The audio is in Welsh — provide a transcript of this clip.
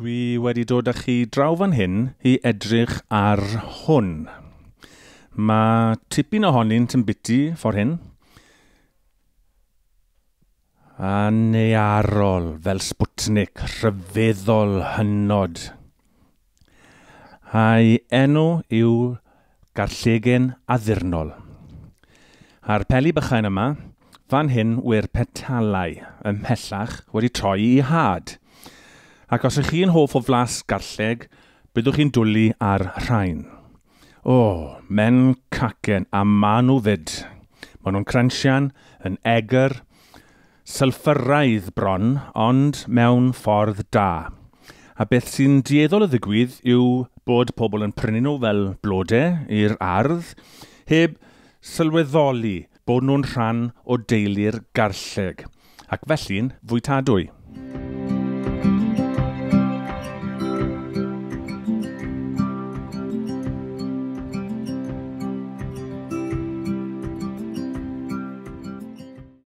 Dwi wedi dod â chi draw fan hyn i edrych ar hwn. Mae tipyn ohonynt yn biti ffordd hyn. A nearol fel Sputnik, rhyfeddol hynod. A'i enw yw Garllegen Addurnol. A'r peli bychain yma, fan hyn wy'r petalau ymhellach wedi troi i had. Ac os ych chi'n hoff o flas garlleg, byddwch chi'n dwlu ar rhain. O, men cacen, a ma nhw fyd. Maen nhw'n cransian, yn egr, sylffyraidd bron, ond mewn ffordd da. A beth sy'n dueddol o ddigwydd yw bod pobl yn prynu nhw fel blodau i'r ardd, heb sylweddoli bod nhw'n rhan o deulu'r garlleg, ac felly'n fwytadwy.